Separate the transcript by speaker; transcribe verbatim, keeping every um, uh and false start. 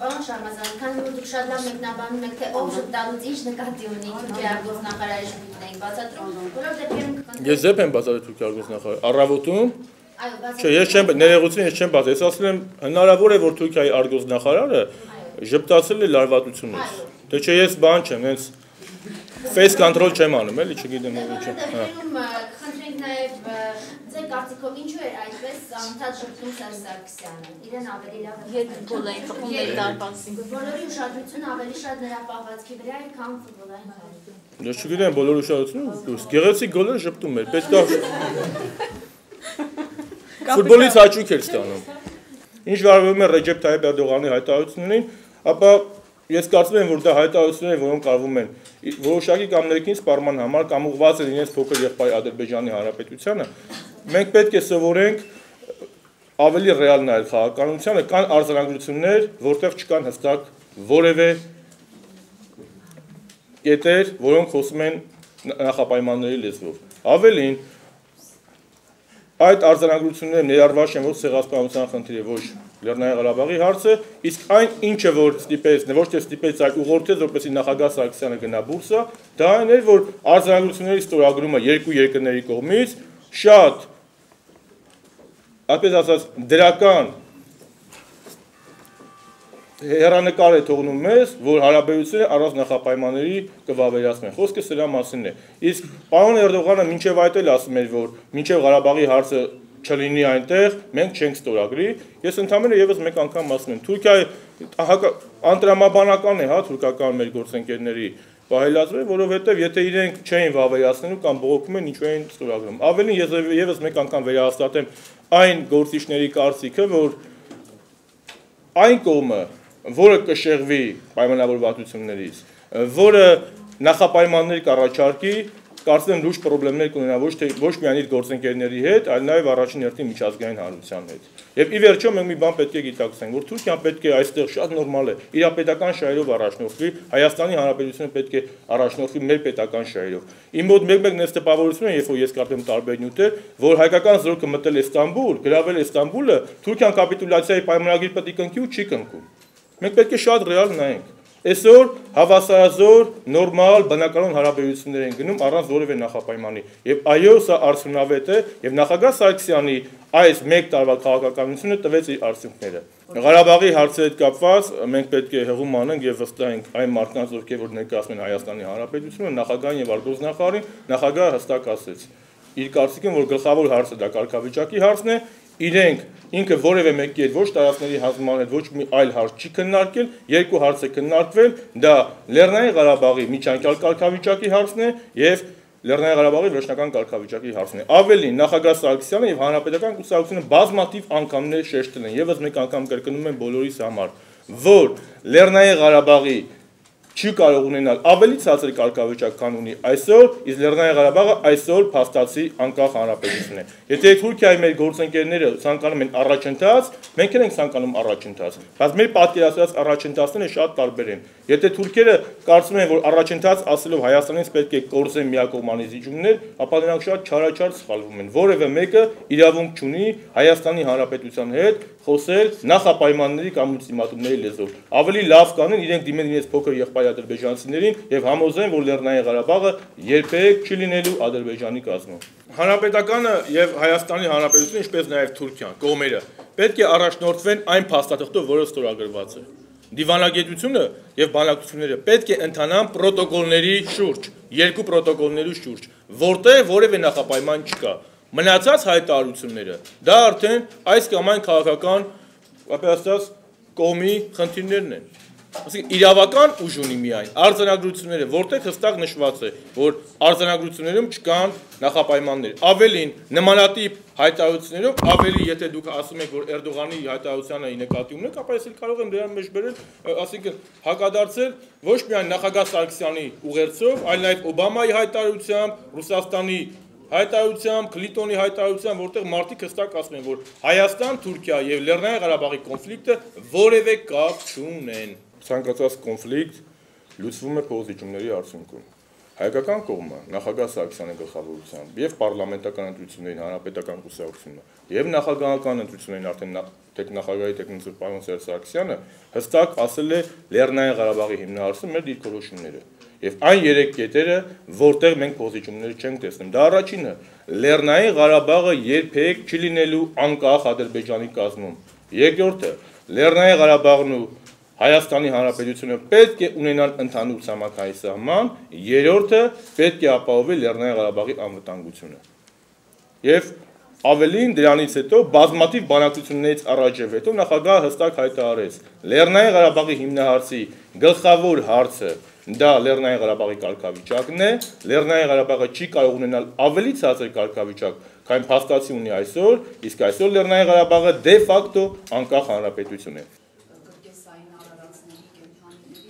Speaker 1: Պարոն Շարմազան, քանի որ դուք շատ լավ մեկնաբանում եք, թե ով ժպտալուց ինչ նկատի ունի Թուրքիայի արտգործնախարարի ժպիտն եք բացատրում, որով դեպքերում կկնդրեմ։
Speaker 2: Ես ձեփ եմ բացատրել Թուրքիայի արտգործնախարարը, առավոտում, չէ, ես չեմ ներողություն, ես չեմ բացել, ես ասել եմ հնարավոր է, որ Թուրքիայի արտգործնախարարը ժպտացել է լարվածությունից, թե չէ ես բան չեմ, հենց face control չեմ անում, էլի չգիտեմ ինչ է։
Speaker 1: Խնդրենք նաև ձեր կարծիքով ինչու էր այդպես անընդհատ ժպտում Սերժ Սարգսյանը, իրեն ավելի լավ
Speaker 3: Ետ գոլ էին խփում մեր դարպասին։
Speaker 1: Բոլորի ուշադրությունը ավելի շատ նրա պահվածքի վրա էր, քան ֆուտբոլային խաղի։
Speaker 2: Ես չգիտեմ բոլորի ուշադրությունը, գեղեցիկ գոլեր ժպտում էր, պետք է ֆուտբոլից հաճույք էր ստանում։ Ինչ վարվում է Ռեջեփ Թայիփ Էրդողանի հայտարարություններին, ապա ես կարծում եմ, որ դա հայտարարություններ են, որոնք արվում են որոշակի կամ ներքին սպառման համար կամ ուղղված են իրենց փոքր եղբայր Ադրբեջանի Հանրապետությանը, մենք պետք է սովորենք ավելի ռեալ նայել խաղաղականությանը, կան արձանագրություններ, որտեղ չկան հստակ որևէ կետեր, որոնք խոսում են նախապայմանների լեզվով։ Ավելին, այդ արձանագրությունները ներառված են ոչ ցեղասպանության խնդիրը, ոչ Լեռնային Ղարաբաղի հարցը, իսկ այն ինչը որ ստիպեց, ոչ թե ստիպեց, այլ ուղղորդեց, որպեսզի նախագահ Սարգսյանը գնա բուրսա, դա այն էր, որ արձանագրությունների ստորագրումը երկու երկրների կողմից շատ, այսպես ասած, դրական հեռանկար է թողնում մեզ, որ հարաբերությունները առանց նախապայմանների կվավերացնեն։ Խոսքը սրա մասին է։ Իսկ պարոն Էրդողանը մինչև այդ էլ ասում էր, որ մինչև Ղարաբաղի հարցը չլինի այնտեղ, մենք չենք ստորագրի։ Ես ընդհանրապես եւս մեկ անգամ ասում եմ, Թուրքիայի անտրամաբանական է, հա, թուրքական մեր գործընկերների պահելացվել, որովհետև եթե իրենք չէին վավերացնելու կամ բողոքում են, ինչու էին ստորագրում։ Ավելին ես եւս մեկ անգամ վերահաստատեմ այն գործիչների կարծիքը, որ այն կողմը, որը կշեղվի պայմանավորվածություններից, որը նախապայմաններ կառաջարկի, կարծում եմ լուրջ խնդիրներ կունենա ոչ թե ոչ միայն իր գործընկերների հետ, այլ նաև առաջին հերթին միջազգային հանրության հետ։ Եվ ի վերջո մենք մի բան պետք է գիտակցենք, որ Թուրքիան պետք է այստեղ շատ նորմալ է, իր պետական շահերով առաջնորդվի, Հայաստանի Հանրապետությունը պետք է առաջնորդվի մեր պետական շահերով։ Իմ մոտ մեկ-մեկ նես տպավորություն է, երբ որ ես կարդում տարբեր նյութեր, որ հայկական զորքը մտել է Ստամբուլ, գրավել է Ստամբուլը, Թուրքիան կապիտուլյացիայի պայմանագիր պետք է կնքի ու չի կնքում։ Մենք պետք է շատ ռեալ նայենք։ Այսօր հավասարազոր, նորմալ, բնականon հարաբերություններ են գնում առանց որևէ նախապայմանի։ Եվ այո, սա արդյունավետ է, եւ նախագահ Սարգսյանի այս մեկ տարվա քաղաքականությունը տվեց իր արդյունքները։ Ղարաբաղի հարցի հետ կապված մենք պետք է հղում անենք եւ վստահենք այն մարդկանց, ովքեր որ ներկայացնում են Հայաստանի Հանրապետությունը, նախագահային եւ արտգործնախարարին, նախագահը հստակ ասեց իր կարծիքին, որ գլխավոր հարցը դա կարգավիճակի հարցն է, իրենք ինքը որևէ մեկի հետ ոչ տարածքների հանձնման հետ ոչ մի այլ հարց չի քննարկել, երկու հարց է քննարկվել, դա Լեռնային Ղարաբաղի միջանկյալ կարգավիճակի հարցն է եւ Լեռնային Ղարաբաղի վերջնական կարգավիճակի հարցն է։ Ավելին, նախագահ Սարգսյանը եւ հանրապետական կուսակցությունը բազմաթիվ անգամներ շեշտել են, եւս մեկ անգամ կրկնում են բոլորիս համար, որ Լեռնային Ղարաբաղի չի կարող ունենալ ավելի ցածր կարգավիճակ, քան ունի այսօր, իսկ Լեռնային Ղարաբաղը այսօր փաստացի անկախ հանրապետություն է։ Եթե Թուրքիայի մեր գործընկերները ցանկանում են առաջընթաց, մենք ենք ցանկանում առաջընթաց, բայց մեր պատկերացրած առաջընթացները շատ տարբեր են։ Եթե թուրքերը կարծում են, որ առաջընթաց ասելով Հայաստանից պետք է կորզեն միակողմանի զիջումներ, ապա նրանք շատ չարաչար սխալվում են։ Որևէ մեկը իրավունք չունի Հայաստանի Հանրապետության հետ խոսել նախապայմանների կամ ուլտիմատումների լեզվով։ Ավելի լավ կանեն իրենք դիմեն իրենց փոքր եղբայր ադրբեջանցիներին եւ համոզեն, որ Լեռնային Ղարաբաղը երբեք չի լինելու Ադրբեջանի կազմում։ Հանրապետականը եւ Հայաստանի Հանրապետությունը, ինչպես նաեւ Թուրքիան, կողմերը պետք է առաջնորդվեն այն փաստաթղթով, որը ստորագրված է։ Դիվանագետությունը եւ բանակցությունները պետք է ընթանան պրոտոկոլների շուրջ, երկու պրոտոկոլների շուրջ, որտեղ որևէ նախապայման չկա։ Մնացած հայտարարությունները դա արդեն այս կամ այն քաղաքական, ապա ասած, կողմի խնդիրներն են։ Այսինքն իրավական ուժ ունի միայն արձանագրությունները, որտեղ հստակ նշված է, որ արձանագրություններում չկան նախապայմաններ։ Ավելին, նմանատիպ հայտարարություններով, ավելի եթե դուք ասում եք, որ Էրդողանի հայտարարությանը նկատի ունեք, ապա ես էլ կարող եմ դրան մեջ բերել, այսինքն հակադարձել ոչ միայն նախագահ Սարգսյանի ուղերձով, այլ նաև Օբամայի հայտարարությամբ, Ռուսաստանի հայտարարությամբ, Քլինտոնի հայտարարությամբ, որտեղ մարդիկ հստակ ասում են, որ Հայաստան, Թուրքիա եւ Լեռնային Ղարաբաղի կոնֆլիկտը որևէ կապ չունեն։ Ցանկացած կոնֆլիկտ լուծվում է փոխզիջումների արդյունքում։ հայկական կողմը նախագահ Սարգսյանի գլխավորությամբ եւ պարլամենտական ընտրություններին հանրապետական կուսակցությունը եւ նախագահական ընտրություններին արդեն տեխնախագահի տեխնիկը պարոն Սերժ Սարգսյանը հստակ ասել է Լեռնային Ղարաբաղի հիմնահարցում մեր դիրքորոշումները եւ այն երեք կետերը, որտեղ մենք պոզիցիոններ չենք տեսնում։ Դա առաջինը Լեռնային Ղարաբաղը երբեք չի լինելու անկախ Ադրբեջանի կազմում։ Երկրորդը Լեռնային Ղարաբաղն ու Հայաստանի Հանրապետությունը պետք է ունենան ընդհանուր ցամաքային սահման, երրորդը պետք է ապահովի Լեռնային Ղարաբաղի անվտանգությունը։ Եվ ավելին դրանից հետո բազմաթիվ բանակցություններից առաջ եւ հետո նախագահը հստակ հայտարարեց Լեռնային Ղարաբաղի հիմնահարցի գլխավոր հարցը դա Լեռնային Ղարաբաղի կարգավիճակն է, Լեռնային Ղարաբաղը չի կարող ունենալ ավելի ցածր կարգավիճակ, քան փաստացի ունի այսօր, իսկ այսօր Լեռնային Ղարաբաղը դե ֆակտո անկախ հանրապետություն է։